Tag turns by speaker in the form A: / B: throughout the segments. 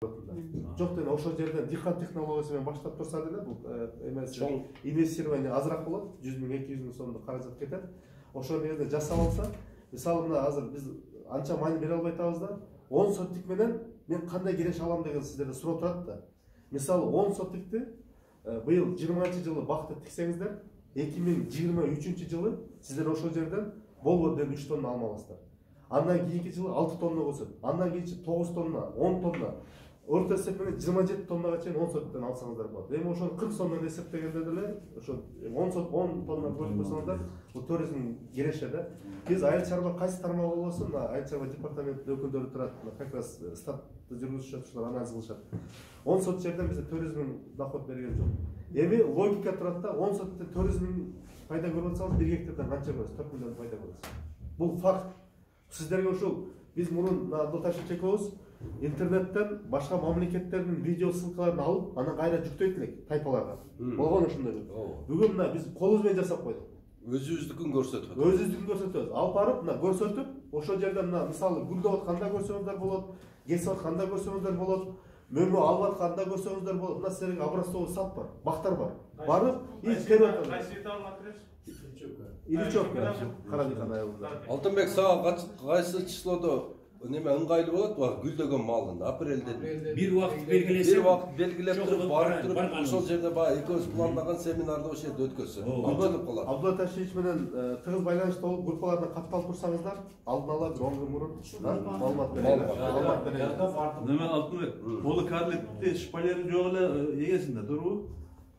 A: Жок деле ошол жерден дихан технологиясы менен баштап турса деле бул эмес инвестирование азыраак болот, 100 миң 200 миң сомдук каражат кетет. Ошол жерде жасап алса, мисалы мына азыр биз анча маани бере албай атабыз да, 10 соттик менен мен кандай кереш алам деген сиздерде суроо турат да. Мисалы 10 соттикти быйыл 20-жылы бакты тиксеңиздер, 2023 жылы сиздер ошол жерден болбоду деп 3 тонна алма аласыздар. Андан кийинки жылы 6 тонна болсун, андан кийинки 9 тонна, 10 тонна, орто эсеп менен 27 тоннага чейин 10 соттан алсаңыздар болот. Эми ошо 40 сомдон эсептегенде деле ошо 10 тонна көрүп койсоңуздар, бул туризм кереше да. Биз айыл чарба кайсы тармак болбосун, айыл чарба департаментинин өкүлдөрү турат, как раз статты жүргүзүп жатышат, анализ кылышат. 10 сот жерден бизде туризм доход берген жок. Эми логика турат да, 10 соттон туризм пайда көрүп атсаңыз 1 гектардан канча көрөсүз? 4 миллион пайда көрөсүз. Бул факт. Сиздерге ушул биз мурун Абдулташев Чекообуз интернеттен башка мамлекеттердин видео ссылкаларын алып, анан кайра жүктөйт элек тайпаларга. Болгон ошондой. Бүгүн мына биз колубуз менен жасап койдук.
B: Өзүбүздүкүн көрсөтөбүз.
A: Өзүбүздүкүн көрсөтөбүз. Алып барып, мына көрсөтүп, ошол жерден мына мисалы гүлдөп атканда көрсөңүздөр болот, кесип атканда көрсөңүздөр болот, мөмө алып атканда көрсөңүздөр болот. Мына силерге образцовый сад бар, бактар бар. Барып,
C: кайсы алып бересиз?
A: Ильичевка, Карадихан айылында.
B: Алтынбек, сага кайсы числодо неме ыңгайлуу болот? Гүлдөгөн малын апрелде
D: бир убакыт белгилеп
B: туруп, барып туруп, ошол жерде баягы экөөбүз планлаган семинарды ошол жерде өткөзсөк.
A: Абдулла Ташевич менен тыгыз байланышта болуп, группалардан катталып турсаңыздар, алдын ала 10 күн мурун маалымат берет.
C: Неме Алтынбек, бул карликти шпалери жок эле эгесинде турбу?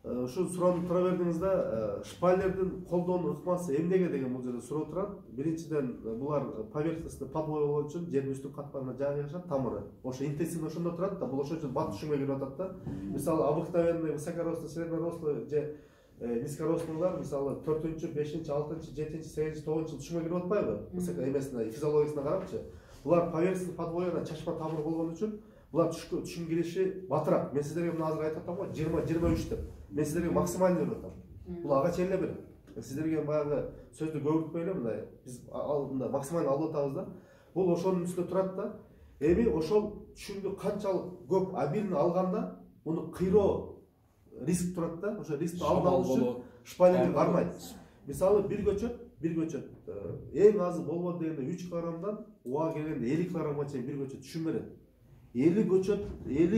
A: Ушул суроону тура бердиңиз да, шпалердин колдонуу ыкмасы эмнеге деген бул жерде суроо турат. Биринчиден булар поверхностный подвой болуу үчүн жердин үстүн катмарына жайгашат, тамыры. Ошо интенсивно ошондо турат да, бул ошол үчүн бат түшүмгө кирип атат да. Мисалы обыкновенный высокорослый, среднерослый же низкорослыйлар мисалы 4-5, 6, 7, 8, 9 түшүмгө кирип атпайбы? Эмесине, физиологиясына карапчы. Булар поверхностный подвойна чачма тамыр болгон үчүн булар түшүм кириши батыраак. Мен сиздерге мына азыр айтып атам го, 20-23 деп. Мен сиздерге максимально берип атам. Бул ага чейин эле берет. Сиздерге баягы сөздү көбүртпөй эле мындай биз алдында максимально алып атабыз да. Бул ошонун үстүнө турат да. Эми ошол түшүмдү канчалык көп обильно алганда, муну кыйроо риск турат да. Ошо рискти алдын алуу үчүн шпалер кармайт. Мисалы бир көчөт эң азы болбоду дегенде 3 килограммдан уга келгенде 50 килограммга чейин бир көчөт түшүм берет. 50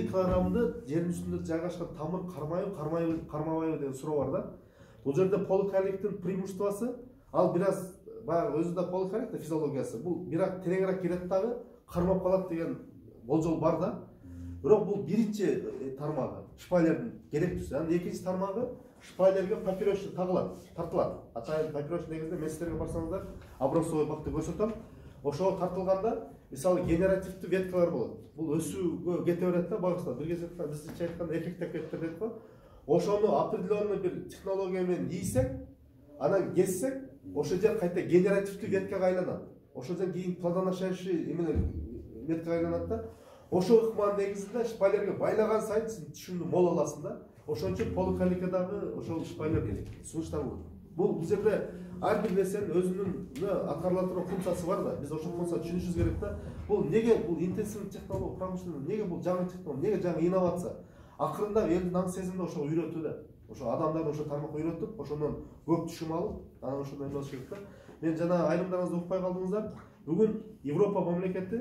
A: килограммды жердин үстүндө жайгашкан тамыр кармабайбы деген суроо бар да. Бул жерде поликарликтин преимуществосу, ал бир аз баягы өзү да поликарлик да физиологиясы. Бул бирок тереңирээк кирет дагы, кармап калат деген болжол бар да. Бирок бул биринчи тармагы, шпалердин керектүүсү. Анан экинчи тармагы шпалерге поперечный тартылат. Атайын поперечный негизинде мен сиздерге барсаңыздар, образцовый бакты көрсөтөм. Ошого тартылганда мисалы генеративдүү веткалар болот. Бул өсүүгө кете берет да, багыштап. Бир кезде бизче айтканда эффекттеп кетет дейт го. Ошону определенный бир технология менен ийсек, анан кессек, ошол жер кайта генеративдүү веткага айланат. Ошол жерден кийин плодоношающий веткага айланат да. Ошол ыкманын негизинде шпалерге байлаган сайын сен түшүмдү мол аласың да. Ошон үчүн поликарликадагы ошол шпалер сунуштар болот. Бул жерде ар бир нерсенин өзүнүн аткарыла турган функциясы бар да. Биз ошол функцияны түшүнүшүбүз керек да. Бул неге бул интенсивный технология промышленность, неге бул жаңы технология, неге жаңы инновация? Акырында элдин аң сезимде ошо үйрөтүү да. Ошо адамдарды ошо тармакка үйрөтүп, ошондон көп түшүм алып, анан ошондой эмес керек да. Мен жана айрымдарыңызды укпай калдыңыздар. Бүгүн Европа мамлекети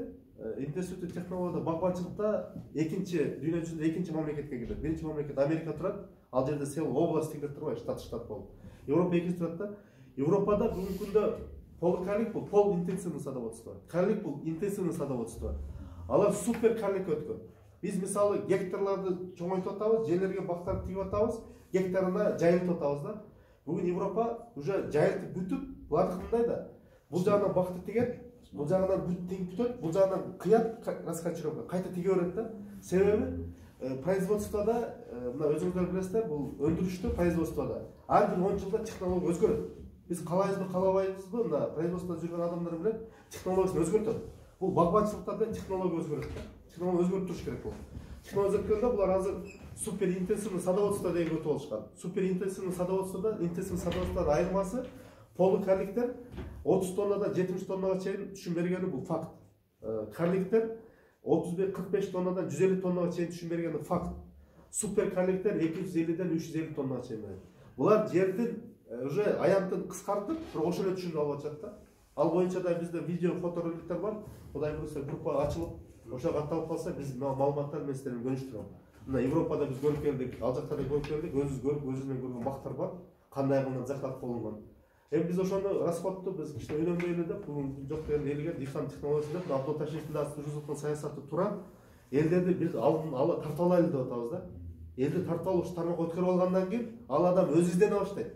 A: интенсивдүү технологияда багбанчылыкта экинчи дүйнө жүзүндө экинчи мамлекетке кирет. Биринчи мамлекет Америка турат. Ал жерде сел область деп турбайбы, штат болуп. Европа экинчи турат да. Европада бүгүнкү күндө поликарлик бул пол интенсивный садоводство. Карлик бул интенсивный садоводство. Алар супер карликке өткөн. Биз мисалы гектарларды чоңойтуп атабыз, жерлерге бактарды тигип атабыз, гектарына жайылтып атабыз да. Бүгүн Европа уже жайылтып бүтүп, булардыкы мындай да. Бул жагынан бакты тигет, бул жагынан тигип бүтөт, бул жагынан кыят, раскачировка, кайта тиге берет да. Себеби производствода, мына өзүңүздөр билесиздер, бул өндүрүштө производствода ар бир 10 жылда технология өзгөрөт. Биз калайбызбы, калабайбызбы, мына производствода жүргөн адамдар билет, технологиясын өзгөртөт. Бул багбанчылыкта да технология өзгөрөт да. Технология өзгөрүп туруш керек бул. Технология өзгөрткөндө булар азыр супер интенсивный садоводство деген өтүп алышкан. Супер интенсивный садоводстводон айырмасы поликарликтер 30 тоннадан 70 тоннага чейин түшүм бергени бул факт. Карликтер 35-45 тоннадан 150 тоннага чейин түшүм бергени факт. Супер карликтер 250ден 350 тоннага чейин берет. Булар жердин уже аянтын кыскартып, бирок ошол эле түшүмдү алып атышат. Ал боюнча да бизде видео, фотороликтер бар. Кудай буюрса группа ачылып, ошо катталып калса, биз маалыматтар менен сиздер менен бөлүштүрөм. Мына Европада биз көрүп келдик, ал жакта да көрүп келдик, өзүбүз көрүп, өзүбүз менен көргөн бактар бар. Кандай кылган закат болгон. Биз ошону расходду биз кичине өнөмдөйлү деп, бүгүн жок деген элге дыйкан технологиясы деп, Абдул Ташевдин да жүргүзүп саясаты туура. Элдерди биз тартып алайлы деп атабыз да. Элди тартып алып тармакка өткөрүп алгандан кийин ал адам өзү издене баштайт.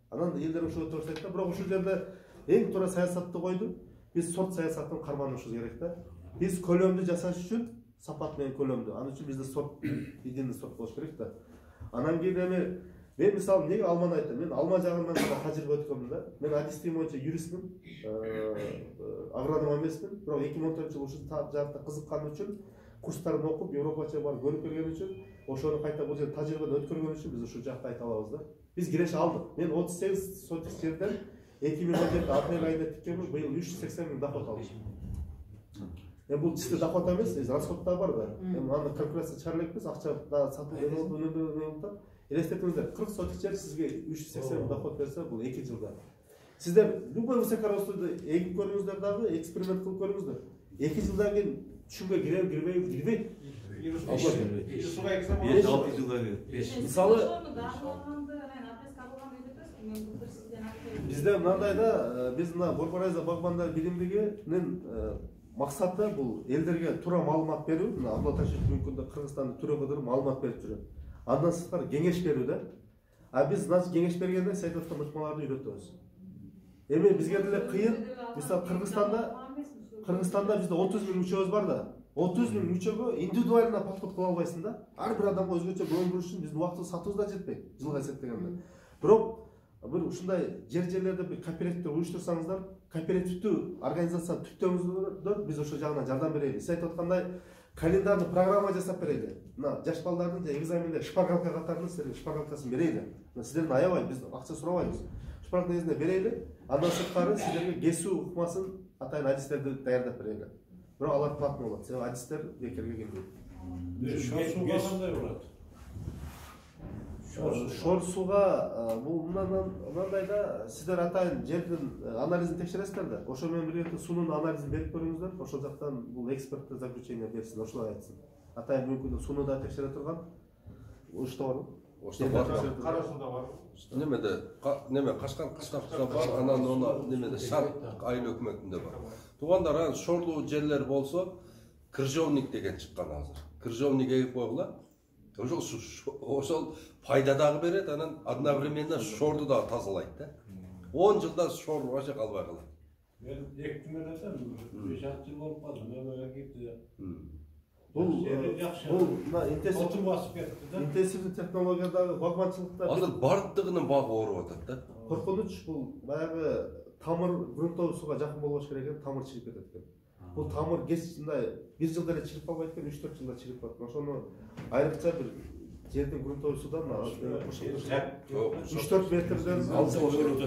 A: Анан элдер ошо өтө баштайт да, бирок ушул жерде эң туура саясатты койду. Биз сорт саясатын карманышыбыз керек да. Биз көлөмдү жасаш үчүн сапат менен көлөмдү. Анын үчүн бизде сорт, идеалный сорт болуш керек да. Анан кийин мен мисалы эмнеге алманы айтам? Мен алма жагынан да тажрыйба өткөмүн да. Мен адистик боюнча юристмин, агроном эмесмин, бирок 2014-жылы ушул жакта кызыккан үчүн курстарын окуп, Европача барып көрүп келген үчүн, ошону кайта бул жерде тажрыйбадан өткөргөн үчүн биз ушул жакта айта алабыз да. Биз киреше алдык. Мен 38 сотик жерден 2017 апрель айында тиккенмин, быйыл 380 000 доход алдым. Бул чисто доход эмес, расход да бар да. Аны калькуляция чыгара элекпиз, акча да сатылып өнөмдө. Элестетиңиздер, 40 сотик жер сизге 380 000 доход берсе, бул 2 жылда. Сиздер любой высокорослыйды эгип көрүңүздөр дагы, эксперимент кылып көрүңүздөр. 2 жылдан кийин түшүмгө кирбейт. Мисалы бизде мындай да, биз мына Борборайза багбандар билимдигинин максаты бул элдерге туура маалымат берүү. Мына Абдул Ташев бүгүнкү күндө Кыргызстанды түрө кыдырып маалымат берип жүрөт. Андан сырткары кеңеш берүү да. Биз значит кеңеш бергенде сиз айтып аткан ыкмаларды үйрөтөбүз. Эми бизге деле кыйын. Мисалы Кыргызстанда бизде 30 000 мүчөбүз бар да. 30 000 мүчөгө индивидуально подход кыла албайсың да. Ар бир адамга өзгөчө көңүл буруш үчүн биздин убактыбыз сатыбыз да жетпейт. Жылга эсептегенде. Бирок бир ушундай жерлерде бир кооперативдер уюштурсаңыздар, кооперативдүү организацияны түптөңүздөр, биз ошол жагынан жардам берели. Сиз айтып аткандай календарный программа жасап берели. Мына жаш балдардын экзаменде шпаргалка катарында силерге шпаргалкасын берели. Сиздерден аябай, биз акча сурабайбыз. Шпаргалка негизинде берели. Андан сырткары сиздерге кесүү ыкмасын атайын адистерди даярдап берели. Бирок алар платный болот. Себеби адистер бекерге келбейт.
D: Шор кандай болот?
A: Шор сууга бул мындай да, сиздер атайын жердин анализин текшересиздер да. Ошо менен бирге суунун анализин берип көрүңүздөр. Ошол жактан бул экспертке заключение берсин, ошолай айтсын. Атайын мүмкүн сууну да текшере турган. Ошто барбы?
B: Ошто бар.
E: Кара сууда бар.
B: Неме Кашкар кыштакта бар, анан оны немеде Шарк айыл өкмөтүндө бар. Туугандар, шорлуу жерлер болсо, крыжовник деген чыккан азыр. Крыжовник эгип койгула. Ошол пайда дагы берет, анан одновременно шорду да тазалайт да. 10 жылда шор вообще калбай калат.
D: Мен 2 күн өтөм, 5-6 жыл болуп калды. Мен кетти.
A: Бул интенсивдүү технологиядагы багбанчылыкта
B: азыр бардыгынын багы ооруп атат да.
A: Коркунуч бул баягы тамыр грунтовый сууга жакын болбош керек экен, тамыр чирип кетет экен. Бул тамыр кеч мындай 1 жылда эле чирип калбайт экен, 3-4 жылда чирип калат. Ошону айрыкча бир жердин грунтовый суудан 3-4 метрден алыс болуш керек.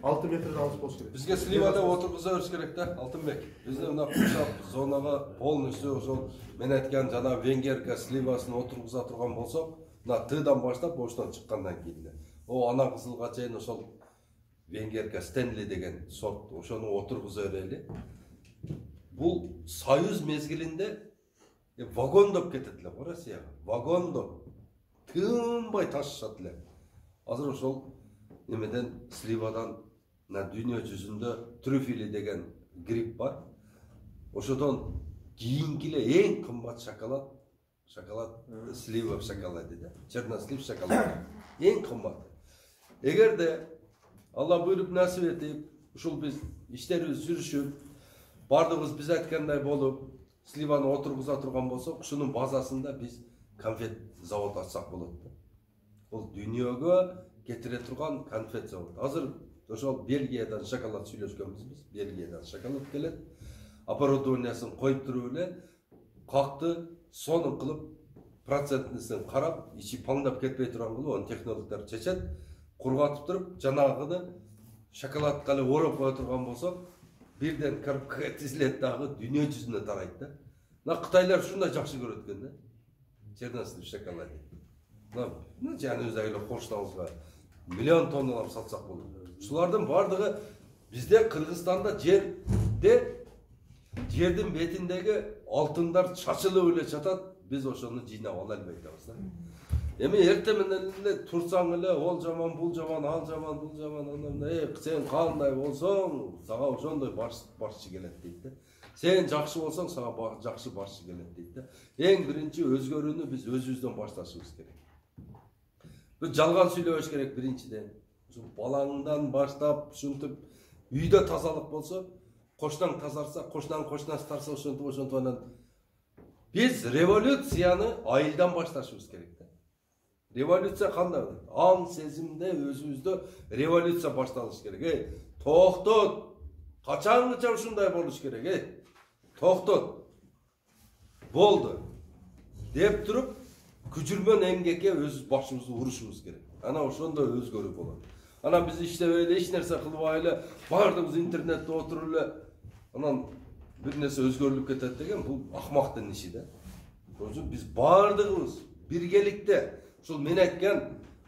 A: 6 метрден алыс болуш керек.
B: Бизге сливада отургуза бериш керек да, Алтынбек. Бизде мына куршап зонага полностью ошол мен айткан жана венгерка сливасын отургуза турган болсок, мына Тыдан баштап оштон чыккандан кийин ана кызылга чейин ошол венгерка Стенли деген сорт, ошону отургуза берели. Бул союз мезгилинде вагондоп кетет эле го Россияга. Вагондоп тынбай ташышат эле. Азыр ошол немеден сливадан дүйнө жүзүндө трюфели деген гриб бар. Ошодон кийинки эле эң кымбат шоколад слива в шоколаде да. Чернослив шоколад. Эң кымбат. Эгерде Алла буйруп насип этип, ушул биз иштерибиз жүрүшүп, бардыгыбыз биз айткандай болуп, сливаны отургуза турган болсок, ушунун базасында биз конфет завод ачсак болот. Бул дүйнөгө кетире турган конфет завод. Азыр ошол Бельгиядан шоколад сүйлөшкөнбүз биз. Бельгиядан шоколад келет. Оборудованиясын коюп туруп эле какты сонун кылып, процентнисин карап, ичи паңдап кетпей турган кылып, аны технологдор чечет. Кургатып туруп, жанагыны шоколадка эле ороп кое турган болсок, бирден коробкага тизилет дагы дүйнө жүзүнө тарайт да. Мына Кытайлар ушундай жакшы көрөт экен да. Черносный в шоколаде. Мына жаныбызда эле коштабызга миллион тонналап сатсак болот. Ушулардын бардыгы бизде Кыргызстанда жердин бетиндеги алтындар чачылып эле жатат. Biz ошону жыйнап ала албай атабыз да. Эми эртең менен эле турсаң эле ол жаман, бул жаман, ал жаман, бул жаман, анан сен кандай болсоң, сага ошондой башчы келет дейт да. Сен жакшы болсоң, сага жакшы башчы келет дейт да. Эң биринчи өзгөрүүнү биз өзүбүздөн башташыбыз керек. Биз жалган сүйлөбөш керек биринчиден. Ушул балаңдан баштап ушинтип үйдө тазалык болсо, кошунаң тазарса, кошунан тарса ошентип анан biz революцияны айылдан башташыбыз керек да. Революция кандай болот? Аң сезимде өзүбүздө революция башталыш керек. Токтот. Качанча ушундай болуш керек. Токтот. Болду. Деп туруп, күчүрмөн эмгекке өз башыбызды урушубуз керек. Ана ошондой өзгөрүү болот. Анан биз иштебей эле, эч нерсе кылбай эле, бардыгыбыз интернетте отуруп эле, анан bir nesi özgürlük ketет деген бул акмактын иши да. Ошон биз бардыгыбыз биргеликте ушул мен айткан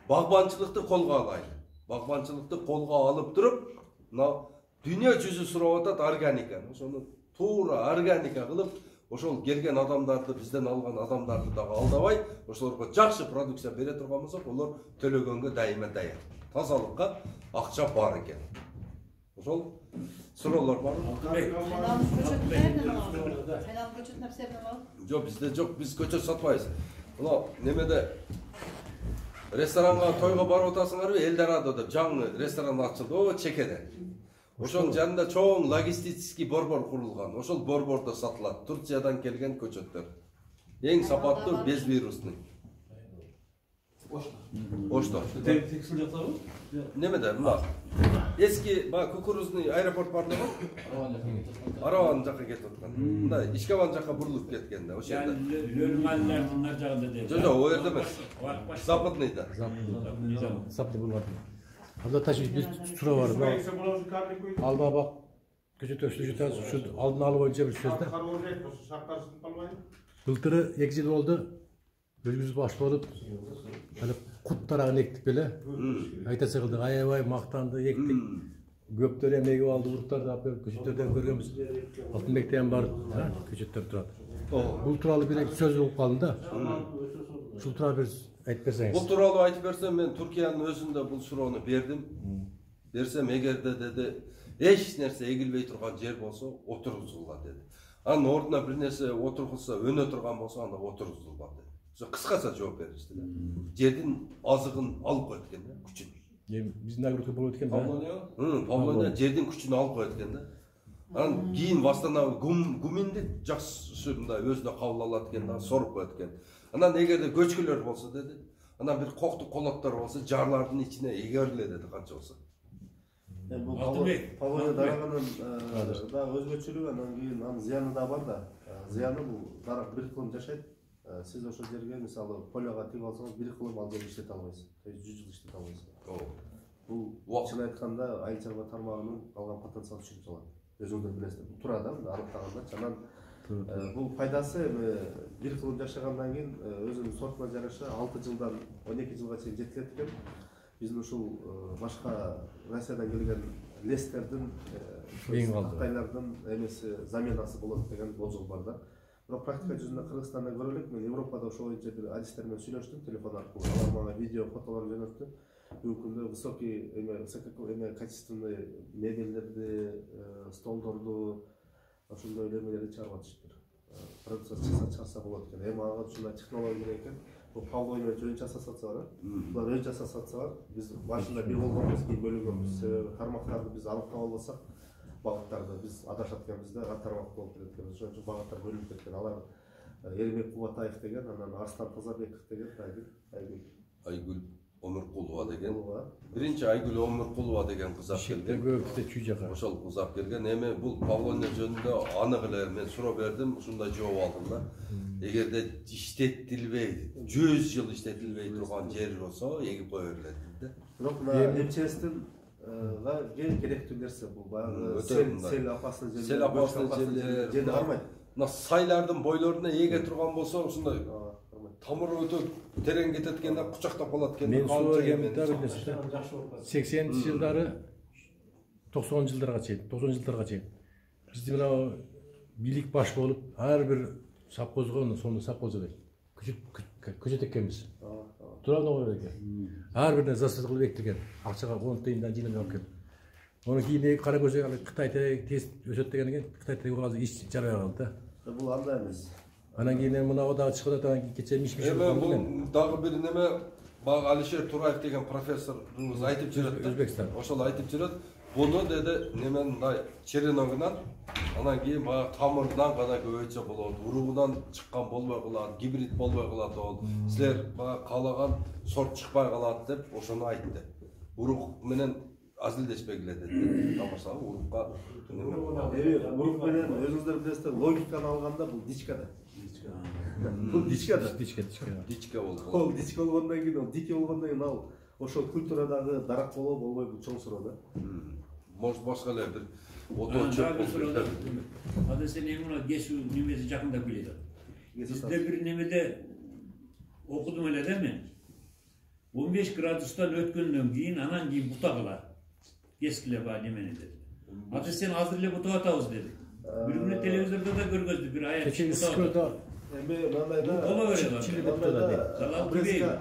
B: багбанчылыкты колго алайлы. Багбанчылыкты колго алып туруп, мына дүйнө жүзү сурап атат органиканы. Ошону туура органика кылып, ошол келген адамдарды, бизден алган адамдарды дагы алдабай, ошолорго жакшы продукция бере турган болсок, олар төлөгөнгө дайыма даяр. Тазалыкка акча бар экен. Ошол суроолор барбы? Жок, бизде жок, биз көчөт сатпайбыз. Мына немеде ресторанга, тойго барып атасыңарбы? Эльдорадода жаңы ресторан ачылды, Чекеде. Ошонун жанында чоң логистический борбор курулган. Ошол борбордо сатылат. Турциядан келген көчөттөр. Эң сапаттуу безвирусный. Ошто.
C: Текстил жатабы?
B: Немеде, мына эски кукурузный аэропорт бар да. Араван жака кетип аткан. Мында Ишкабан жака бурулуп кеткен да, ошо жерде.
D: Лөлманлардын нар жагында дейт.
B: Жок, о жерде эмес. Западныйда.
E: Западный булган. Анда ташып биз суроо бар. Алда бак көчөт өстү жатат, ушу алдын алуу боюнча бир сөз да. Былтыры 2 жыл болду. Өзүбүз баш болуп, аны кут тарагын эктип эле. Айтасы кылдык, аябай мактанды, эктик. Көптөр эм эгип алды, уруктарды алып берип, көчөттөрдөн көргөнбүз. Алтынбекте ham бар, көчөттөр турат. Бул тууралуу бир сөз угуп калдым да. Ушул тууралуу бир айтып берсеңиз.
B: Бул тууралуу айтып берсем, мен Түркиянын өзүндө бул суроону бердим. Берсем, эгерде деди, эч нерсе эгилбей турган жер болсо, отургузула деди. Анын ордуна бир нерсе отургузса, өнө турган болсо, анда отургузулба деди. Кыскача жооп беришти да. Жердин азыгын алып коет экен да, күчүн.
E: Биздин агротур болот экен да.
B: Павлония жердин күчүн алып коет экен да. Анан кийин восстановить гуминди жакшы мындай өзүнө кабыл алат экен да, соруп коет экен. Анан эгерде көчкүлөр болсо деди, анан бир коктук колоттор болсо, жарлардын ичине эгериле деди канча болсо.
A: Бул Павлония дараганын да өзгөчөлүгү, анан кийин анын зыяны да бар да. Зыяны бул дарак бир кылым жашайт. Siz ошол жерге мисалы полёга тигип алсаңыз, бир кылым ал жерде иштете албайсыз. 100 жыл иштете албайсыз. Бул чын айтканда айыл чарба тармагынын алган потенциалы чыгып салат. Өзүңүздөр билесиздер. Бул турада аныктаганда анан бул пайдасы эми бир кылым жашагандан кийин өзүнүн сортуна жараша 6 жылдан 12 жылга чейин жетилет экен. Биздин ушул башка Россиядан келген лестердин, Кытайлардын эмеси заменасы болот деген болжол бар да. Бирок практика жүзүндө Кыргызстанда көрө элек, мен Европада ошол боюнча бир адистер менен сүйлөштүм телефон аркылуу. Алар мага видео, фотолор жөнөттү. Бүгүнкү күндө высокий качественный мебелдерди, столдорду, ошондой элемелерди чыгарып атышыптыр. Продукция чыгарса болот экен. Эми ага ушундай технология керек экен. Бул Павлония жөн жасасатса бар. Булар өн жасасатса бар. Биз башында бир болгонбуз, кийин бөлүнгөнбүз. Себеби тармактарды биз аныктап албасак, багыттарды биз адашат экенбиз да, тармак болуп кетет экенбиз. Ошон үчүн багыттар бөлүнүп кеткен. Алар Эрмек Кубатаев деген, анан Арстан Тазабеков деген,
B: Айгүл Омуркулова деген. Биринчи Айгүл Омуркулова деген кыз алып келген. Ошол кыз алып келген. Эми бул Павлония жөнүндө анык эле мен суроо бердим, ушундай жооп алдым да. Эгерде иштетилбей, 100 жыл иштетилбей турган жер болсо, эгип кое берилет да.
A: Бирок мына МЧСтин керектүү нерсе бул баягы сел опасный жерлер, жерди кармайт.
B: мына сайлардын бойлоруна эге турган болсо ушундай тамыры өтө терең кетет экен да кучактап калат экен.
E: Мен суу бергенмин да бир нерсе.
D: жакшы болуп калат.
E: 80 жылдары 90 жылдарга чейин бизде мына бийлик баш болуп ар бир совхозго сонун совхоз элек көчөт экенбиз. Туурабы экен. Ар бир засыз кылып эктирген. Акчага 10 тыйындан жыйнап алып келип. Onu kiyinip kara göze Kıtay'da test özettiğine gel Kıtay'da bazı iş çare aldı da.
A: Bu anda emas.
E: Anan kiyinen buna o da çıkıda da geçirmiş bir şey
B: oldu. Bu dagı bir neme bag Alişer Turayev degen professorumuz aytıp жүрөт.
E: Özbekistan.
B: Oşol aytıp жүрөt. Bunu dedi nemen mындай череногунан анан кийин баягы тамырынан гана көбөйчө болот. Уругунан чыккан болбой калат, гибрид болбой калат болот. Силер баягы каалаган сорт чыкпай калат деп ошону айтты. Урук менен азилдешпегиле деди. Тамашага урукка
A: урук менен өзүңүздөр билесиздер логиканы алганда бул дичка да. Бул дичка да.
B: Дичка болду.
A: Ол дичка болгондон кийин, ол дики болгондон кийин ал ошол культурадагы дарак болбой бул чоң суроо да.
B: Может башка эле бир
F: Ада сен эмне кесүү немеси жакындап келет. Бизде бир немеде окудум эле да мен. 15 градустан өткөндөн кийин анан кийин бута калат. Кескиле ба немени деди. Ада сен азыр эле бутап атабыз деди. Бир күнү телевизордо да көргөздүк бир аяк бутап.
A: Эми мындайда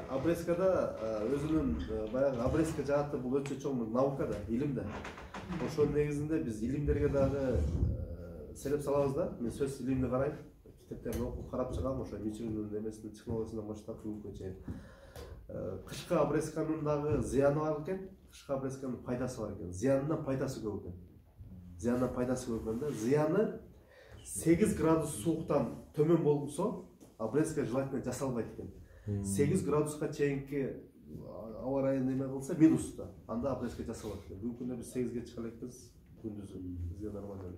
A: Абрескада өзүнүн баягы Абреска жааты бул өтө чоң наука да, илим да. Ошонун негизинде биз илимдерге дагы селеп салабыз да. Мен сөз илимди карайм, китептерди окуп карап чыгам, ошо Мичигандын немесинин технологиясынан баштап бүгүнкү чейин. Кышкы Абресканын дагы зыяны бар экен, кышкы Абресканын пайдасы бар экен. Зыянынан пайдасы көп экен. Зыянынан пайдасы көп экен да. Зыяны 8 градус сууктан төмөн болсо, Абреска желательно жасалбайт экен. 8 градуска чейинки аба ырайы неме кылса минуста, анда Абреска жасалат экен. Бүгүнкү күндө биз 8ге чыга элекпиз күндүзү. Бизге нормально.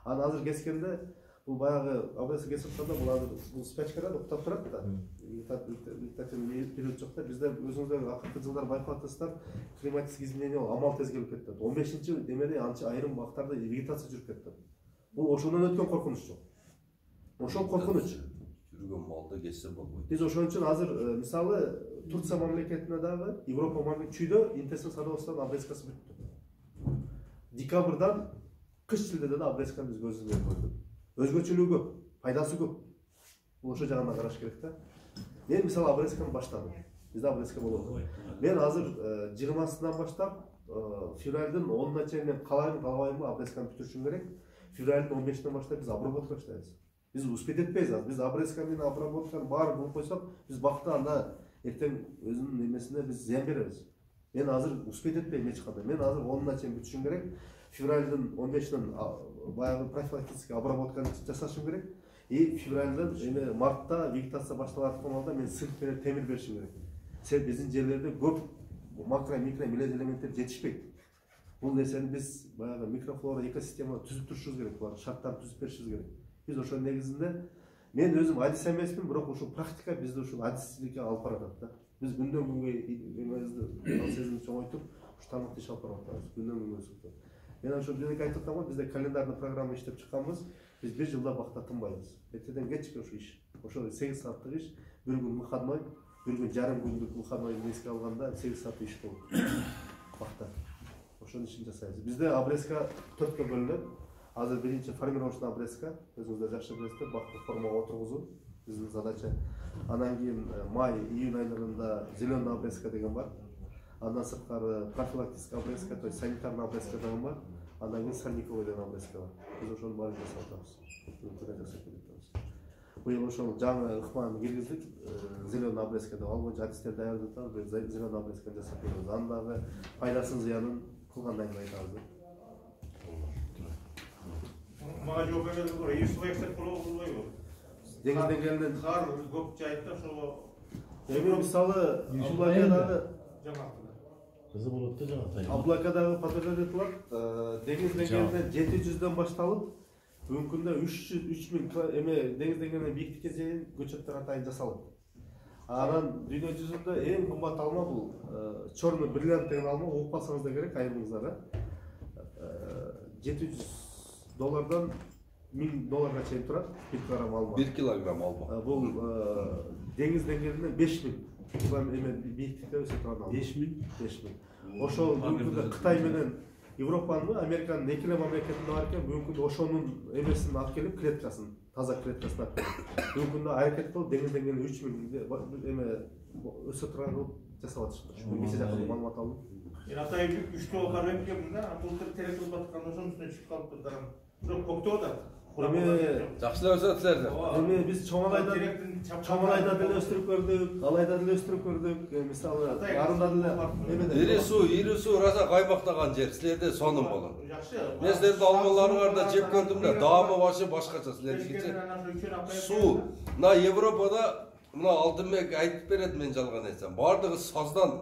A: Анан азыр кескенде бул баягы Абреска кесип атканда бул азыр бул спячкада уктап турат да. Вегетативный период жок да. Бизде өзүңүздөр акыркы жылдар байкап атасыздар, климатический изменение амал тез келип кетти. 15-чи демеде анча айрым убактарда вегетация жүрүп кетти. Бул ошондон өткөн коркунуч жок. Ошол коркунуч.
B: Жүргөн малды кессе болбойт.
A: Биз ошон үчүн азыр мисалы Турция мамлекетине дагы Европа мамлекетчүйдө интенсив садоводстводон Абрескасы бүттү. Декабрдан кыш шилдеде да Абресканы биз көзүбүз көрдүк. Өзгөчөлүгү көп, пайдасы көп. Бул ошо жагынан караш керек да. Мен мисалы Абресканы баштадым. Бизде Абреска болот. Мен азыр 20-сынан баштап февралдын 10-на чейин мен калабайбы Абресканы бүтүрүшүм керек. Февралдын 15-тен баштап биз обработка баштайбыз. Биз успеть этпейбиз азыр. Биз Абреска менен обработканы баарын кылып койсок, биз бакта анда эртең өзүнүн немесине биз зыян беребиз. Мен азыр успеть этпейм эч кандай. Мен азыр 10-на чейин бүтүрүшүм керек. Февралдын 15-тен баягы профилактический обработканы жасашым керек. И февралдын эми мартта вегетация башталып аткан балда мен цинк менен темир беришим керек. Себеби биздин жерлерде көп макро микро мелез элементтер жетишпейт. Бул нерсени биз баягы микрофлора экосистема түзүп турушубуз керек, булар шарттарды түзүп беришибиз керек. Биз ошонун негизинде мен өзүм адис эмесмин, бирок ушул практика бизди ушул адистикке алып баратат да. Биз күндөн күнгө эмебизди сезимди чоңойтуп, ушу тармакта иш алып баратабыз. Күндөн күнгө өсүп. Мен ошо биринки айтып атам го, бизде календарный программа иштеп чыкканбыз. Биз 1 жылда бакта тынбайбыз. Эртеден кечке ошо иш. Ошо 8 сааттык иш, бир күн выходной, бир күн жарым күндүк выходной эске алганда 8 саат иш болот. Бакта. Ошонун ишин жасайбыз. Бизде Абреска 4кө бөлүнөт. Азыр биринчи формировочный Абреска, өзүңүздөр жакшы билесиздер, бакты формага отургузуу биздин задача. Анан кийин май, июнь айларында зеленый Абреска деген бар. Андан сырткары профилактический Абреска, то есть санитарный Абреска деген бар. Андан кийин сорняковый деген Абреска бар. Биз ошонун баарын жасап атабыз. Быйыл ошол жаңы ыкманы киргиздик, зеленый Абреска деп ал боюнча адистер даярдап атабыз, зеленый Абреска жасап беребиз. Анын дагы пайдасын зыянын кылгандан кийин айтабыз.
D: Мага жооп берген бар, эсип эксеп болбойбу?
A: Деңиз деңгээлинен
D: кар көп жайытта ошого
A: эми мисалы Аблакадагы
E: Кызы болот да жана тай.
A: Аблакадагы подтверждение кылат. Деңиз деңгээлинен 700дөн башталып, бүгүнкү күндө 3000 эме деңиз деңгээлинен бийиктикке чейин көчөттөр атайын жасалат. Анан дүйнө жүзүндө эң кымбат алма бул черный бриллиант деген алма, угуп калсаңыз да керек айрымыңыздар. $700 $1000 чейин турат 1 килограмм алма.
B: 1 килограмм алма.
A: Бул деңиз деңгээлинен 5000 эме бийиктикте өсө турган алма. 5000. Ошол бүгүнкү Кытай менен Европанын, Американын экиле мамлекетинде бар экен. Бүгүнкү ошонун эмесин алып келип, клеткасын, таза клеткасын алып келип. Бүгүнкү аракет кылып деңиз деңгээлинен 3000 эме өсө турган кылып жасап атышты. Биз жакында маалымат алдым.
G: Атайбек 3 барып келдим да, былтыр терек кылып аткан ошонун үстүнө чыгып калыптыр. Бирок көктөө да.
B: Жакшылап өсөтүлөр.
A: Эми биз чоңалайда деле өстүрүп көрдүк, алайда деле өстүрүп көрдүк. Мисалы, арында деле
B: Ири суу раса каймактаган жер. Силерде сонун болот.
G: Жакшы.
B: Мен силердин алмаларыңарда жеп көрдүм да, даамы башы башкача силердикичи. Суу, мына Европада мына Алтынбек айтып берет, мен жалган айтсам. Бардыгы саздан,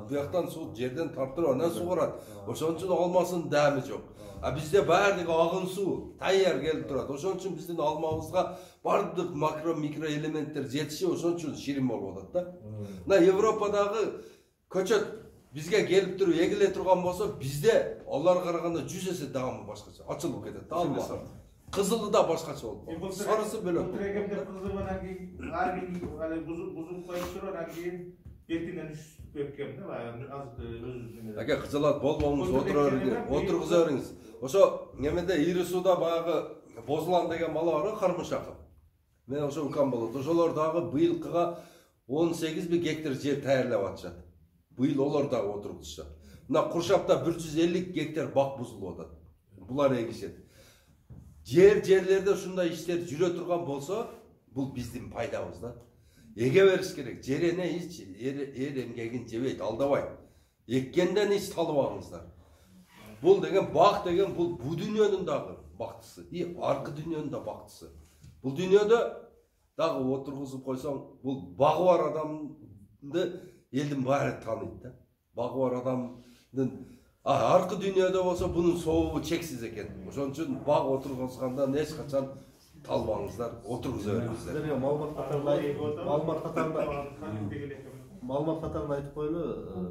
B: бияктан суу жерден тартып, анан сугарат. Ошон үчүн алмасынын даамы жок. А бизде баардыгы агын суу, даяр келип турат. Ошон үчүн биздин алмабызга бардык макро микро элементтер жетишип, ошон үчүн ширин болуп атат да. Мына Европадагы көчөт бизге келип туруп эгиле турган болсо, бизде аларга караганда 100 эсе даамы башкача. Ачылып кетет да алма. Кызылы да башкача болот. Сарысы бөлөк.
G: Трегемде кызыл менен кийин ар бир али бузуп коюп туруп, анан кийин эртеңден үчүп беркем да, азык өзүбүздүн.
B: Аке кызылат болбоңуз, отургуза бериңиз. Ошо немеде Ири сууда баягы Бозулан деген бала бар, Кармышаков. Мен ошо укам болот. Ошолор дагы быйылкыга 18 гектар жер таярлап атышат. Быйыл олар дагы отургузушат. Мына Куршапта 150 гектар бак бузулуп атат. Булар эгишет. Жерлерде ушундай иштер жүрө турган болсо, бул биздин пайдабыз да. Эге бериш керек. Жерене ич, эр эмгегин жебейт, алдабайт. Эккенден ич талып алыңыздар. Бул деген бак деген бул дүйнөнүн дагы бактысы, аркы дүйнөнүн да бактысы. Бул дүйнөдө дагы отургузуп койсоң, бул багы бар адамды элдин баары тааныйт да. Багы бар адамдын аркы дүйнөдө болсо бунун сообу чексиз экен. Ошон үчүн баг отургузгандан эч качан талбаңыздар, отургуза бериңиздер.
A: Маалымат катарында айтып коелу,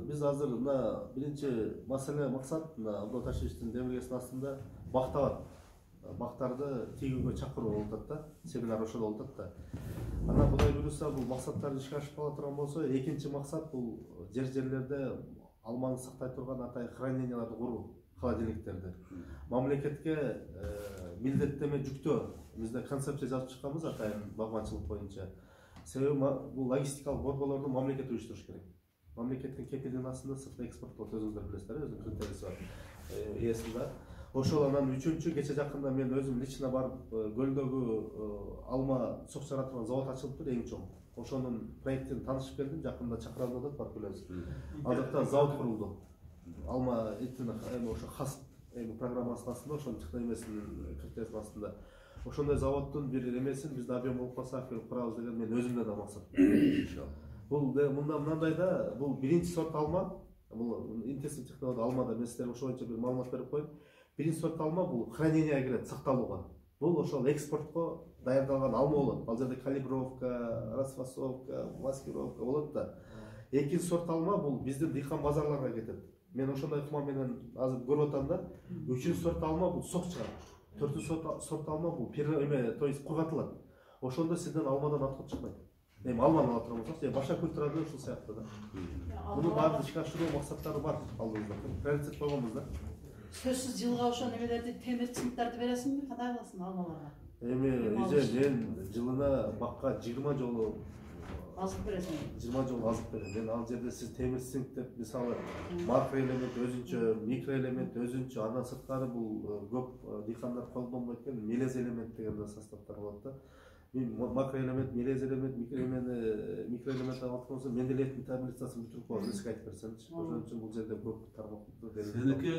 A: биз азыр мына биринчи маселе максат мына Абдул Ташевичтин демилгесинин астында бакта бар. Бактарды тийүүгө чакыруу болуп атат да, семинар ошол болуп атат да. Анан Кудай буйруса бул максаттар ишке ашып кала турган болсо, экинчи максат бул жерлерде алманы сактай турган атай храненияларды куруу, холодильниктерди. Мамлекетке милдеттеме жүктөө. Бизде концепция жазып чыкканбыз атайын багманчылык боюнча. Себеби бул логистикалык борборлорду мамлекет уюштуруш керек. Мамлекеттин кепилдигинин астында сыртка экспорт кылып өзүңүздөр билесиздер, өзүнүн критериясы бар. Эсинде. Ошол анан үчүнчү кече жакында мен өзүм лично барып көлдөгү алма сок чыгара турган завод ачылыптыр, эң чоң. Ошонун проектин таанышып келдим, жакында чакырылды баркүлөбүз. Азыркы завод курулду. Алма этин ошо хас программасынын астында, ошонун чыккан эмесинин критериясынын астында. Ошондой заводдун бир эмесин бизде объем болуп калса алып курабыз деген мен өзүмдө да максат. Бул мындай да, бул биринчи сорт алма, бул интенсив технология алмада мен сиздерге ошол боюнча бир маалымат берип коеюн. Биринчи сорт алма бул храненияга кирет, сакталууга. Бул ошол экспортко даярдалган алма болот. Ал жерде калибровка, расфасовка, маскировка болот да. Экинчи сорт алма бул биздин дыйкан базарларга кетет. Мен ошондой ыкма менен азыр көрүп атам да. Үчүнчү сорт алма бул сок чыгат. Төртүнчү сорт алма бул то есть кургатылат. Ошондо сизден алмадан аткып чыкпайт. Эми алманы ала турган болсоңуз, башка культура да ушул сыяктуу да. Муну баарын ишке ашыруу максаттары бар алдыбызда. Приоритет койгонбуз да.
H: Сөзсүз жылга ошо немелерди, темир цинктарды бересиңби, кандай кыласың алмаларга?
A: Эми мен жылына бакка 20 жолу
H: азык бересиң.
A: 20 жолу азык берем. Мен ал жерде сиз темир цинк деп мисалы макроэлемент өзүнчө, микроэлемент өзүнчө, андан сырткары бул көп дыйкандар колдонбойт экен, мелез элемент деген составтар болот да. Мен макроэлемент, мелез элемент, микроэлемент алып болсо, мен деле метаболизациясын бүтүрүп коем, сизге айтып берсемчи. Ошон үчүн бул жерде көп тармактар берилет.
C: Сеники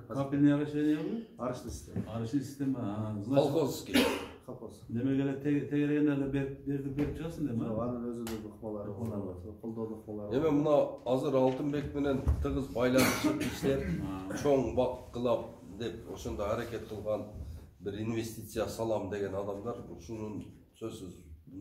C: капельный орошениябы?
A: Арычный система.
C: Арычный система.
B: Колхозский.
A: Колхоз.
C: Демек эле тегерегендерге берип чыгасың да?
A: Анын өзүнүн ыкмалары бар, колдоо ыкмалары.
B: Эми мына азыр Алтынбек менен тыгыз байланышып иштеп, чоң бак кылам деп ошондо аракет кылган бир инвестиция салам деген адамдар ушунун сөзсүз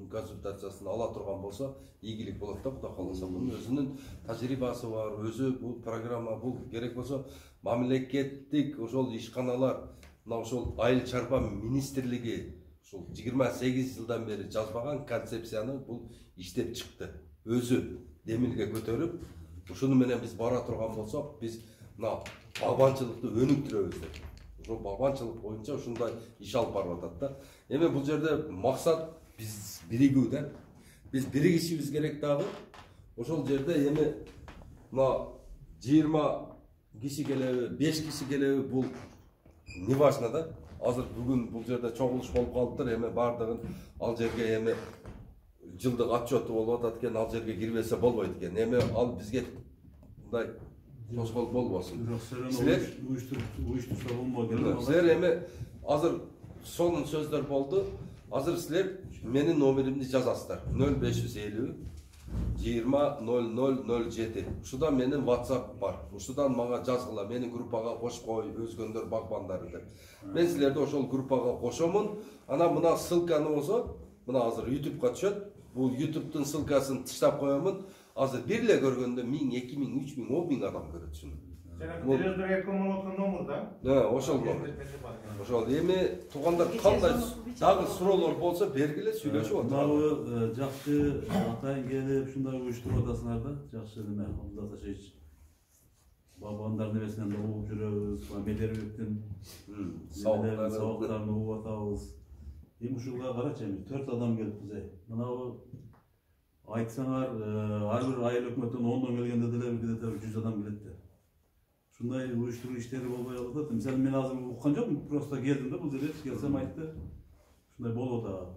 B: консультациясын ала турган болсо ийгилик болот да, Кудай кааласа. Мунун өзүнүн тажрыйбасы бар, өзү бул программа бул керек болсо мамлекеттик ошол ишканалар мына ошол айыл чарба министрлиги ушул 28 жылдан бери жазбаган концепцияны бул иштеп чыкты. Өзү демилге көтөрүп, ушуну менен биз бара турган болсок, биз мына багбанчылыкты өнүктүрөбүз деп. Ошол багбанчылык боюнча ушундай иш алып барып атат да. Эми бул жерде максат биз биригүү да. Биз биригишибиз керек дагы. Ошол жерде эми мына 20 киши келеби, 5 киши келеби бул не важно да. Азыр бүгүн бул жерде чогулуш болуп калыптыр, эми бардыгын ал жерге эми жылдык отчету болуп атат экен, ал жерге кирбесе болбойт экен. Эми ал бизге мындай тоскоол болбосун. Силер
C: уюштурса болмок экен.
B: Силер эми азыр сонун сөздөр болду. Азыр силер менин номеримди жазасыздар. 0550 200007. Ушуда менин WhatsApp бар. Ушудан мага жазгыла, мени группага кошуп кой, өзгөндөр багбандары деп. Мен силерди ошол группага кошомун. Анан мына ссылканы болсо, мына азыр YouTube'га түшөт. Бул YouTube'дун ссылкасын тыштап коёмун. Азыр бир эле көргөндө 1000, 2000, 3000, 10000 адам көрөт шуну.
G: Телевизорго коммуникацион номер да?
B: Ошол номер. Ошол эми туугандар кандай дагы суроолор болсо бергиле сүйлөшүп
C: отыралы. Мынабы жакшы атайын келип ушундай уюштуруп атасыңар да. Жакшы неме, Абдулла Ташевич. Бабандар небесинен да угуп жүрөбүз, Медербектин сабактарын угуп атабыз. Эми ушуга карачы, 4 адам келиппиз. Мынабы айтсаңар, ар бир айыл өкмөттөн 10дон келгенде деле бирде 100 адам келет да. Ушундай уюштуруу иштери болбой калат. Мисалы мен азыр уккан жокмун, просто келдим да, бул жерге келсем айтты. Ушундай болуп атат.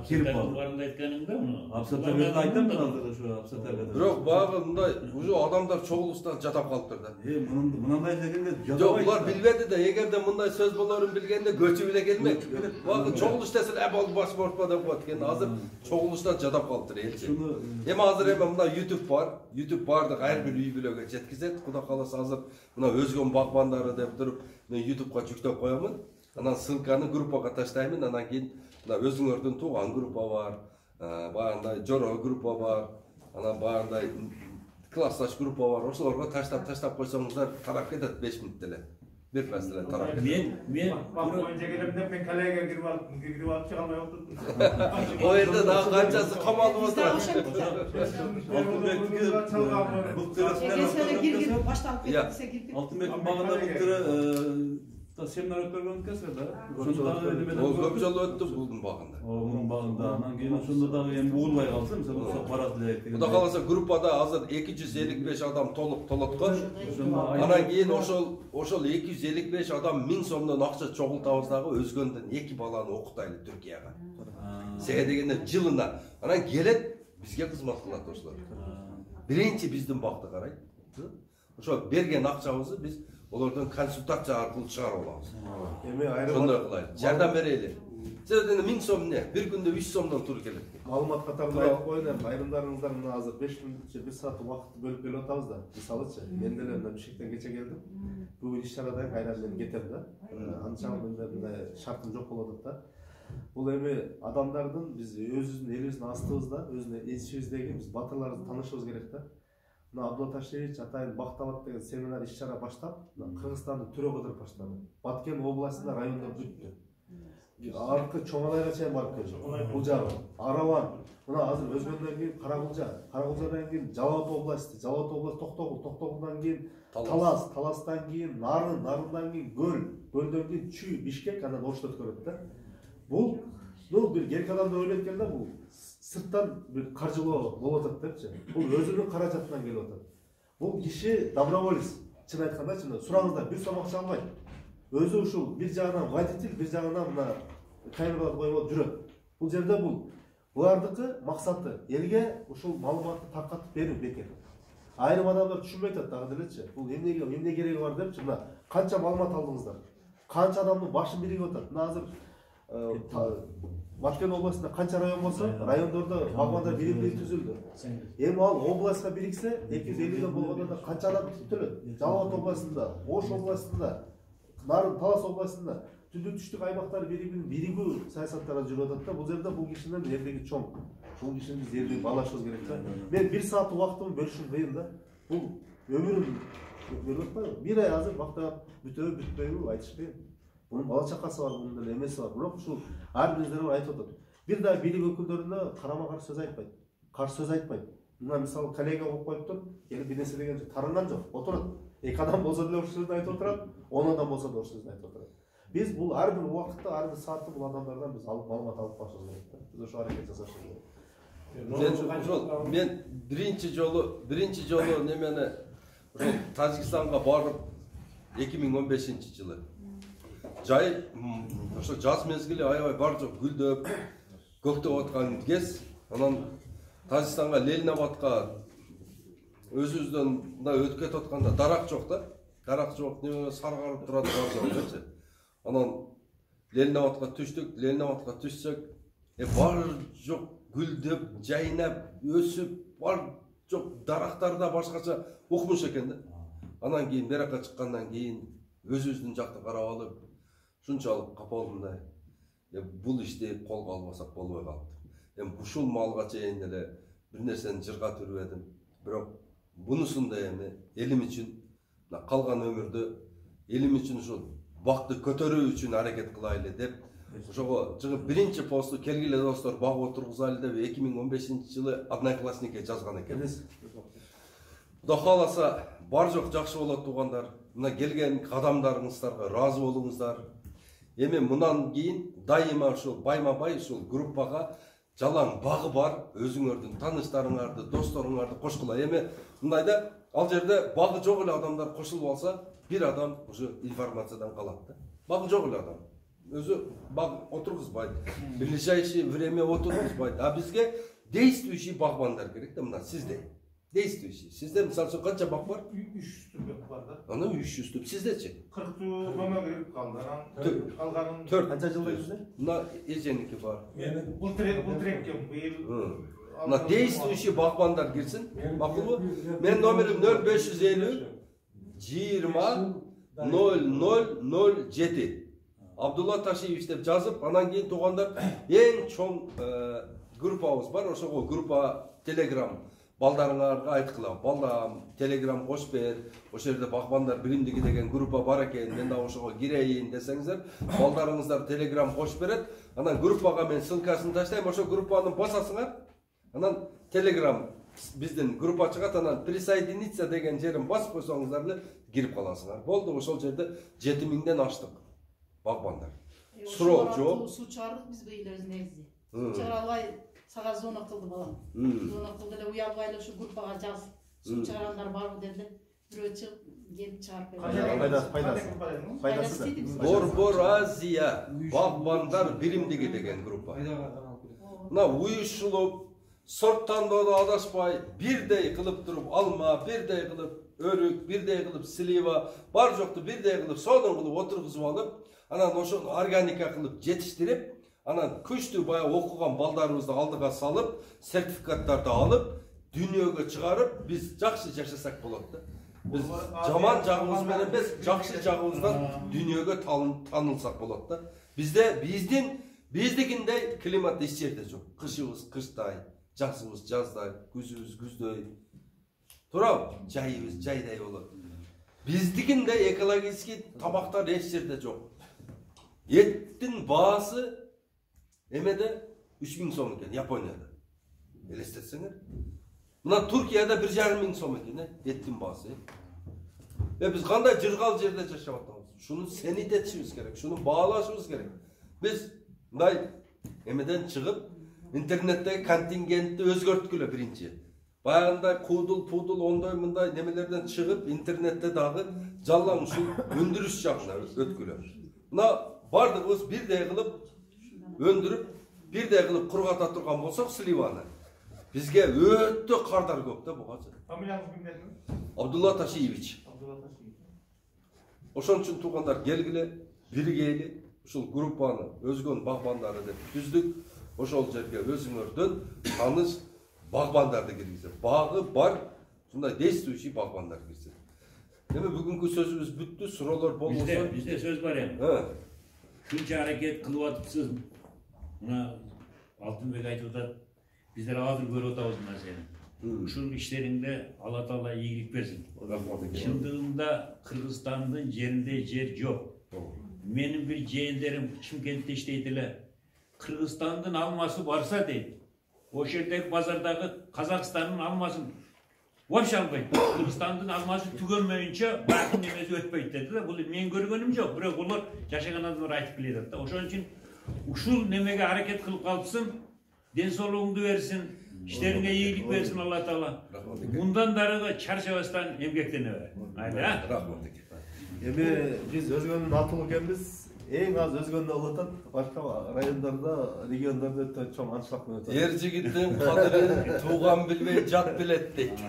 F: Кирип барында айтканыңда муну.
C: Апсаттарга айтам мен азыр ушу апсаттарга.
B: Бирок багы мындай уже адамдар чогулуштан жатап калыптыр да.
C: Мындай дегенде жатабайт.
B: Жок, булар билбеди да, эгерде мындай сөз болорун билгенде көчүп эле келмек. Багы чогулуш десе, болду баш бортпа деп коет экен. Азыр чогулуштан жатап калыптыр элчи. Эми азыр мында YouTube бар. YouTube бардык ар бир үй бүлөгө жеткизет. Кудай кааласа азыр мына өзгөн багбандары деп туруп, мен YouTube'га жүктөп коёмун. Анан ссылканы группага таштаймын, анан кийин мына өзүңөрдүн тууган группа бар, баягындай жоро группа бар, анан баягындай классташ группа бар. Ошолорго таштап койсоңуздар тарап кетет 5 мүнөттө эле. Бир нерсе эле тарап кетет.
F: Мен
G: боюнча келем деп мен калайга кирип алып чыга алмай отурдум.
B: О жерде дагы канчасы камалып отурат.
C: Алтынбектин багында былтыр семинар өткөргөн экенсиз да?
B: Ол көп жолу өттү булдун багында.
C: Мунун багында. Анан кийин ошондо дагы эми угулбай калса, мисалы уруксат барат элек.
B: Кудай кааласа группада азыр 255 адам толоткон. Анан кийин ошол 255 адам 1000 сомдон акча чогултабыз дагы өзгөндөн 2 баланы окутайлы Түркияга. Себеби дегенде жылына. Анан келет бизге кызмат кылат ошолор. Биринчи биздин багды карайт. Ошо берген акчабызды биз олордон консультация аркылуу чыгарып алабыз.
A: Эми айрым
B: ошондой кылайлы. Жардам берели. Себеби 1000 сом эмне? Бир күндө 3 сомдон туруп келет.
A: Маалымат катарында айтып коеюн, айрымдарыңыздар мына азыр 5 мүнөт же 1 саат убакытты бөлүп келип атабыз да. Мисалычы, мен деле мына Бишкектен кече келдим. Бүгүн иш чарадан кайра мен кетем да. Анчалык мындай шартым жок болуп атат да. Бул эми адамдардын биз өзүбүздүн элибиздин астыбызда, өзүнүн ичибиздеги биз батырларды таанышыбыз керек да. Мына Абдулла Ташевич атайын бактабат деген семинар иш чара баштап, Кыргызстанды түрө кыдырып баштады. Баткен областында райондор бүттү. Аркы Чоңалайга чейин барып келди. Бул жагы Араван. Мына азыр өзгөндөн кийин Карагулжа, Карагулжадан кийин Жалал Абад областы, Токтогул, Токтогулдан кийин Талас, Таластан кийин Нарын, Нарындан кийин Көл, Көлдөн кийин Чүй, Бишкек, анан Ошто өткөрөт да. Бул бир керек адамды ойлойт экен да, бул сырттан бир каржылоо болуп атат депчи. Бул өзүнүн каражатынан келип атат. Бул киши доброволец. Чын айтканда, чын сураңыздар, бир сом акча албайт. Өзү ушул бир жагынан водитель, бир жагынан мына камералар коюп жүрөт. Бул жерде булардыкы максаты элге ушул маалыматты таркатып берүү бекер. Айрым адамдар түшүнбөй атат дагы делечи. Бул эмне кереги бар депчи. Мына канча маалымат алдыңыздар? Канча адамдын башын биригип атат. Мына азыр Баткен областында канча район болсо, райондордо багбандар бири-бири түзүлдү. Эми ал областка бириксе, 250ден болгондо да канча адам түтүлөт? Жалал Абад областында, Ош областында, Нарын, Талас областында түндүк түштүк аймактар бири-бирин биригүү саясаттарда жүрүп атат да. Бул жерде бул кишинин эрдеги чоң. Бул кишини биз эрдеги баалашыбыз керек да. Мен 1 саат убактымды бөлүшүм кыйын да. Бул өмүрүм бөлүп атпайбы? 1 ай азыр бактап бүтөбү, бүтпөйбү айтыш кыйын. Bunun bala çakası var, bunun da emesi var. Bırak şu her bizlere ait otur. Bir daha bilim öküllerine karama karşı söz aytmayın. Karşı söz aytmayın. Buna misal kollega olup koyuptur. Yani bir nesi degen tarından yok. Oturun. Ek adam bolsa da o sözünü ayıp oturadi. 10 adam bolsa da o sözünü ayıp oturadi. Biz bu her bir vakitte, her bir saatte bu adamlardan biz alıp malumat alıp başlıyoruz. Biz o şu hareket жасашыбыз керек.
B: Men birinchi жолу немени Тажикстанга барып 2015-жылы. Жай ошо жаз мезгили аябай бар жок гүлдөп, көктөп аткан кез. Анан Тажикстанга Ленинабадка өзүбүздөн да өтүп кетип атканда дарак жок да. Дарак жок, неме саргарып турат бар жок. Анан Ленинабадка түшсөк, бар жок гүлдөп, жайнап, өсүп, бар жок дарактарда башкача укмуш экен да. Анан кийин беракка чыккандан кийин өзүбүздүн жакты карап алып, шунчалык капа болдум да. Бул ишти колго албасак болбой калды. Ушул малга чейин эле бир нерсени жырга түрбөдүм. Бирок бунусун да элим үчүн, калган өмүрдө элим үчүн ушул бакты көтөрүү үчүн аракет кылайлы деп, ошого чыгып биринчи посту келгиле достор баг отургузайлы деп 2015-жылы одноклассникке жазган экен. Кудай кааласа бар жок жакшы болот туугандар. Мына келген кадамдарыңыздарга ыраазы болуңуздар. Эми мындан кийин дайыма ушул байма-бай ушул группага жалаң багы бар өзүңөрдүн тааныштарыңарды, досторуңарды кошкула. Эми мындай да ал жерде багы жок эле адамдар кошулуп алса, бир адам уже информациядан калат да. Багы жок эле адам. Өзү баг отургузбайт. Ближайшее время отургузбайт. А бизге действующий багбандар керек да, мына сизде. Действующий. Сизде мисалы үчүн канча баг бар?
G: 300 түп бар да.
B: Аны 300 түп. Сиздечи?
G: 40 мөмө кирип калды. Калганын
B: 4
A: Канча жылда жүзде?
B: Мына эженики бар.
G: Бул трекке быйыл.
B: Мына действующий багбандар кирсин. Макулбу? Мен номерим 0550 20 0007. Абдулла Ташиевич деп жазып, анан кийин туугандар эң чоң группабыз бар. Ошого группа Telegram балдарыңарга айткыла. Балам, Telegram кош бер. Ошол жерде багбандар биримдиги деген группа бар экен. Мен да ошого кирейин десеңиздер, балдарыңыздар Telegram кош берет. Анан группага мен ссылкасын таштайм. Ошо группаны басасыңар. Анан Telegram биздин группа чыгат, анан присоединиться деген жерин басып койсоңуздар эле кирип каласыңар. Болду, ошол жерде 7000ден аштык. Багбандар. Суроо жок.
H: Суу чыгардык биз быйыл негизи. Суу чыгара албай сага зона кылды балам. Зона кылды эле уялбай эле ушу группага жаз. Суу чыгарандар барбы деди. Бирөө чыгып келип чыгарып берди.
A: Пайдасы.
B: Борбор Азия багбандар биримдиги деген группа. Мына уюшулуп, сорттандоодо адашпай, бирдей кылып туруп алма, бирдей кылып өрүк, бирдей кылып слива, бар жокту бирдей кылып сонун кылып отургузуп алып, анан ошону органика кылып жетиштирип, анан күчтүү баягы окуган балдарыбызды алдыга салып, сертификаттарды алып, дүйнөгө чыгарып, биз жакшы жашасак болот да. Биз жаман жагыбыз менен эмес, жакшы жагыбыздан дүйнөгө таанылсак болот да. Биздикиндей климат эч жерде жок. Кышыбыз кыштай, жазыбыз жаздай, күзүбүз күздөй. Туурабы? Жайыбыз жайдай болот. Биздикиндей экологический тамактар эч жерде жок. Эттин баасы эмеде 3000 сом экен, Японияда. Элестетсеңер. Мына Туркияда 1,5 сом экен, эттин баасы. Биз кандай жыргал жерде жашап атабыз? Шуну сенитетишибиз керек, шуну баалашыбыз керек. Биз мындай эмеден чыгып, интернеттеги контингентти өзгөрткүлө биринчи. Баягындай куудул, ондой мындай немелерден чыгып, интернетте дагы жалаң ушул өндүрүш жагына өткүлө. Мына бардыгыбыз бирдей кылып өндүрүп, бирдей кылып кургата турган болсок сливаны. Бизге өтө кардар көп да буга.
G: Фамилияңыз ким дедиңиз?
B: Абдулла Ташиевич. Ошон үчүн туугандар келгиле, биригейли. Ушул группаны өзгөн багбандары деп түздүк. Ошол жерге өзүңөрдөн таныш багбандарды киргизип, багы бар, ушундай действующий багбандар кирсин. Эми бүгүнкү сөзүбүз бүттү, суроолор болбосо.
F: Бизде сөз бар эми. Шунча аракет кылып атыпсыз. Мына Алтынбек айтып атат, биздер азыр көрүп атабыз нерсени. Ушул иштериңде Алла Таала ийгилик берсин. Чындыгында Кыргызстандын жеринде жер жок. Менин bir жээндарым Чымкентте иштейт эле. Кыргызстандын алмасы барса дейт. Ошол жердеги базардагы Казакстандын алмасын вообще албайт. Кыргызстандын алмасы түгөнмөйүнчө баакын немеси өтпөйт деди да. Бул мен көргөнүм жок, бирок булар жашаган адамдар айтып келет да. Ошон үчүн ушул немеге аракет кылып калыпсың, ден соолугуңду берсин, иштериңе ийгилик берсин Алла Таала. Мындан дарыгы чарчабастан эмгектене бер. Айда.
B: Рахмат.
A: Эми биз өзгөнүн атуу экенбиз. Эң аз өзгөндө болуп атат. Башка райондордо, региондордо өтө чоң аншлаг менен өтөт.
B: Ер жигиттин кадырын тууган билбей жат билет дейт.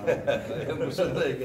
B: Эми ошондой экен.